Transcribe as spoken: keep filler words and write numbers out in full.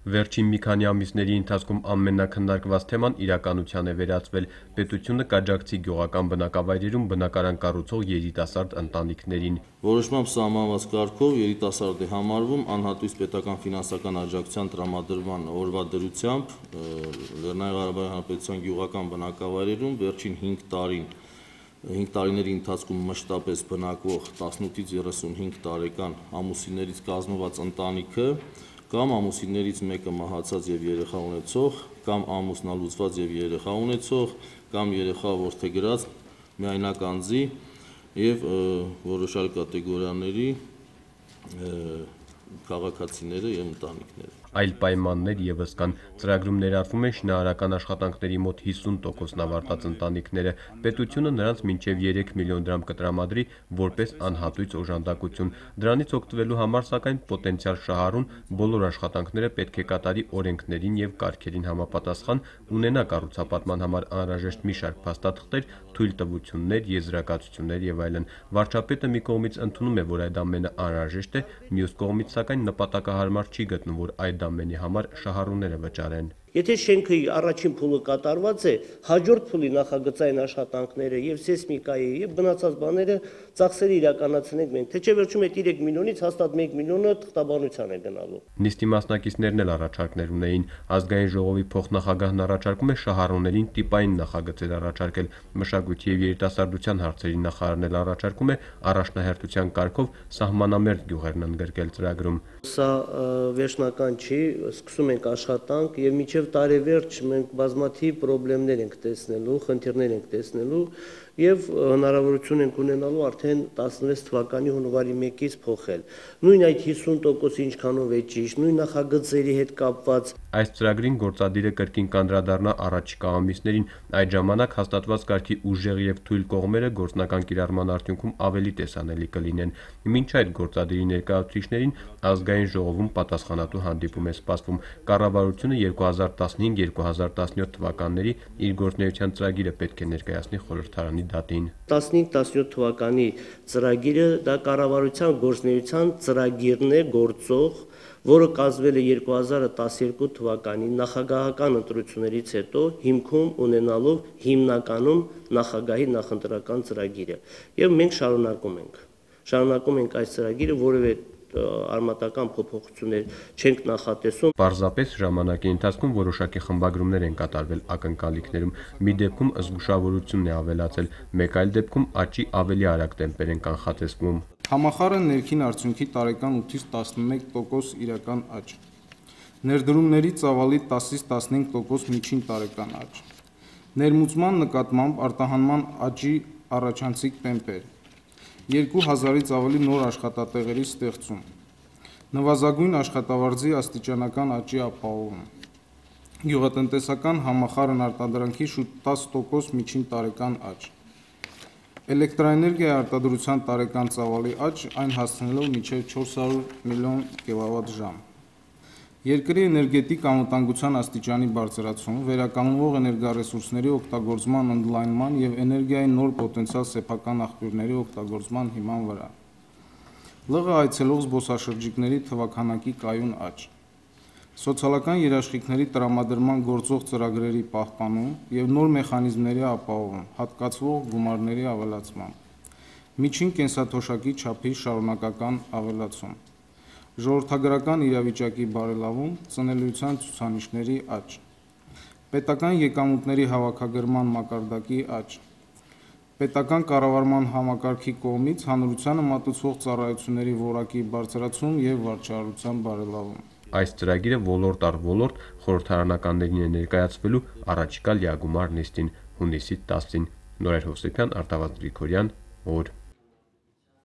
Վերջին մի քանի ամիսների ընթացքում ամենաքննարկված թեման իրականության է վերածվել։ Պետությունը կաջակցի գյուղական բնակավայրերում բնակարան կառուցող երիտասարդ ընտանիքներին։ Որոշմամբ սահմանված կարգով երիտասարդ է համարվում անհատույց պետական ֆինանսական աջակցության տրամադրման օրվա դրությամբ Լեռնային Ղարաբաղի Հանրապետության գյուղական բնակավայրերում վերջին հինգ տարին հինգ տարիների ընթացքում մշտապես բնակվող տասնութից երեսունհինգ տարեկան ամուսիններից կազմված ընտանիքը կամ ամուսիններից մեկը մահացած եւ երեխա ունեցող, կամ ամուսնալուծված եւ երեխա ունեցող, կամ երեխա որդեգրած միայնակ անձի եւ որոշ այլ կատեգորիաների քաղաքացիները եւ ընտանիքները։ Այլ պայմաններ եւս կան։ Ծրագրում ներառվում են շինարարական աշխատանքների մոտ հիսուն տոկոսն ավարտած ընտանիքները։ Պետությունը նրանց մինչեւ երեք միլիոն դրամ կտրամադրի որպես անհատույց օժանդակություն։ Դրանից օգտվելու համար, սակայն, պոտենցիալ շահառուն բոլոր աշխատանքները պետք է կատարի օրենքներին եւ կարգերին համապատասխան, ունենա կառուցապատման համար անհրաժեշտ մի շարք փաստաթղթեր, թույլտվություններ, եզրակացություններ եւ այլն։ Վարչապետը մի կողմից ընդունում է, որ այդ ամենը անհրաժեշտ է, մյուս կողմից, սակայն, նպատակահարմար չի գտնում, որ այդ ամենի համար շահառուները վճարեն։ Եթե շենքի առաջին փուլը կատարված է, հաջորդ փուլի նախագծային աշխատանքները եւ սեյսմիկայի եւ բնացած բաները ծախսերը իրականացնենք մենք, թե չէ վերջում այդ երեք միլիոնից հաստատ մեկ միլիոնը թղթաբանության է գնալու։ Նիստի մասնակիցներն էլ առաջարկներ ունեին։ Ազգային ժողովի փոխնախագահն առաջարկում է շահառուներին տիպային նախագծեր առաջարկել։ Մշակույթի եւ երիտասարդության հարցերի նախարարն էլ առաջարկում է առաջնահերթության կարգով սահմանամերձ գյուղերն ընդգրկել ծրագրում։ Սա վերջնական չի, սկսում ենք աշխատանք եւ մինչեւ տարեվերջ մենք բազմաթիվ խնդիրներ ենք տեսնելու, խնդիրներ ենք տեսնելու եւ հնարավորություն ենք ունենալու արդեն տասնվեց թվականի հունվարի մեկից փոխել։ Նույն այդ հիսուն տոկոսը ինչքանով է ճիշտ, նույն նախագծերի հետ կապված։ Այս ծրագրին գործադիրը կրկին կանդրադառնա առաջիկա ամիսներին, այդ ժամանակ հաստատված կարգի ուժեղ եւ թույլ կողմերը գործնական կիրառման արդյունքում ավելի տեսանելի կլինեն։ Մինչ այդ գործադիրի ներկայացուցիչներին ազգային ժողովում պատասխանատու հանդիպում է սպասվում։ Կառավարությունը երկու հազար տասնհինգ երկու հազար տասնյոթ թվականների իր գործունեության ծրագիրը պետք է ներկայացնի խորհրդարանի դատին։ տասնհինգ տասնյոթ թվականի ծրագիրը դա կառավարության գործունեության ծրագիրն է գործող, որը կազմվել է երկու հազար տասներկու թվականի նախագահական ընտրություններից հետո հիմքում ունենալով հիմնականում նախագահի նախընտրական ծրագիրը։ Եվ մենք շարունակում ենք։ Շարունակում ենք այս ծրագիրը, որևէ արմատական փոփոխություններ չենք նախատեսում։ Պարզապես ժամանակի ընթացքում որոշակի խմբագրումներ են կատարվել ակնկալիքներում։ Մի դեպքում զգուշավորությունն է ավելացել, մեկ այլ դեպքում աճի ավելի արագ տեմպեր են կանխատեսվում։ Համախառն ներքին արդյունքի տարեկան ութից տասնմեկ տոկոս իրական աճ, ներդրումների ծավալի տասից տասնհինգ տոկոս միջին տարեկան աճ, ներմուծման նկատմամբ արտահանման աճի առաջանցիկ տեմպեր, երկու հազարից ավելի նոր աշխատատեղերի ստեղծում, նվազագույն աշխատավարձի աստիճանական աճի ապահովում, գյուղատնտեսական համախառն արտադրանքի շուրջ տասը տոկոս միջին տարեկան աճ, էլեկտրաէներգիայի արտադրության տարեկան ծավալի աճ, այն հասնելով մինչև չորս հարյուր միլիոն կիլովատ-ժամ, երկրի էներգետիկ անվտանգության աստիճանի բարձրացում, վերականգնվող էներգառեսուրսների օգտագործման ընդլայնման եւ էներգիայի նոր պոտենցիալ սեփական աղբյուրների օգտագործման հիման վրա, ԼՂ այցելող զբոսաշրջիկների թվաքանակի կայուն աճ, սոցիալական երաշխիքների տրամադրման գործող ծրագրերի պահպանում եւ նոր մեխանիզմների ապահովում, հատկացվող գումարների ավելացման, միջին կենսաթոշակի չափի շարունակական ավելացում, ժողովրդագրական իրավիճակի բարելավում, ծնելիության ցուցանիշների աճ, պետական եկամուտների հավաքագրման մակարդակի աճ, պետական կառավարման համակարգի կողմից հանրությանը մատուցվող ծառայությունների որակի բարձրացում եւ վարչարարության բարելավում։ Այս ծրագիրը ոլորտ առ ոլորտ խորհրդարանականներին է ներկայացվելու առաջիկա լիագումար նիստին հունիսի տասին։ Նորեր Հովսեփյան, Արտավազդ Գրիգորյան, օր